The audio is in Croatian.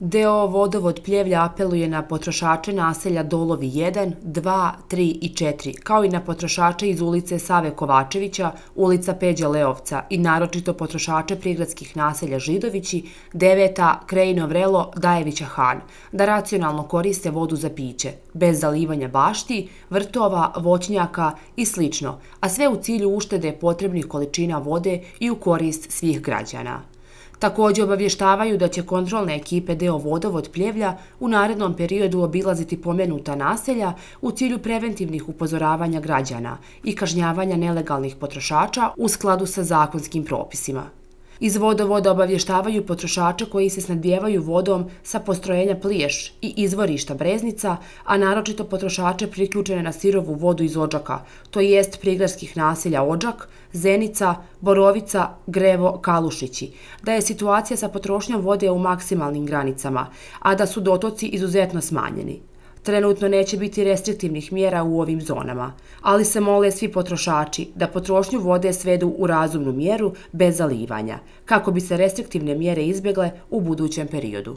DO Vodovod Pljevlja apeluje na potrošače naselja Dolovi 1, 2, 3 i 4, kao i na potrošače iz ulice Save Kovačevića, ulica Peđe Leovca i naročito potrošače prigradskih naselja Židovići, Deveta, Krejino Vrelo, Dajevića Han, da racionalno koriste vodu za piće, bez zalivanja bašti, vrtova, voćnjaka i sl., a sve u cilju uštede potrebnih količina vode i u korist svih građana. Također obavještavaju da će kontrolne ekipe DO Vodovod Pljevlja u narednom periodu obilaziti pomenuta naselja u cilju preventivnih upozoravanja građana i kažnjavanja nelegalnih potrošača u skladu sa zakonskim propisima. Iz vodovoda obavještavaju potrošače koji se snabdijevaju vodom sa postrojenja Pliješ i izvorišta Breznica, a naročito potrošače priključene na sirovu vodu iz Odžaka, to jest prigradskih naselja Odžak, Zenica, Borovica, Grevo, Kalušići, da je situacija sa potrošnjom vode u maksimalnim granicama, a da su dotoci izuzetno smanjeni. Trenutno neće biti restriktivnih mjera u ovim zonama, ali se mole svi potrošači da potrošnju vode svedu u razumnu mjeru bez zalivanja, kako bi se restriktivne mjere izbjegle u budućem periodu.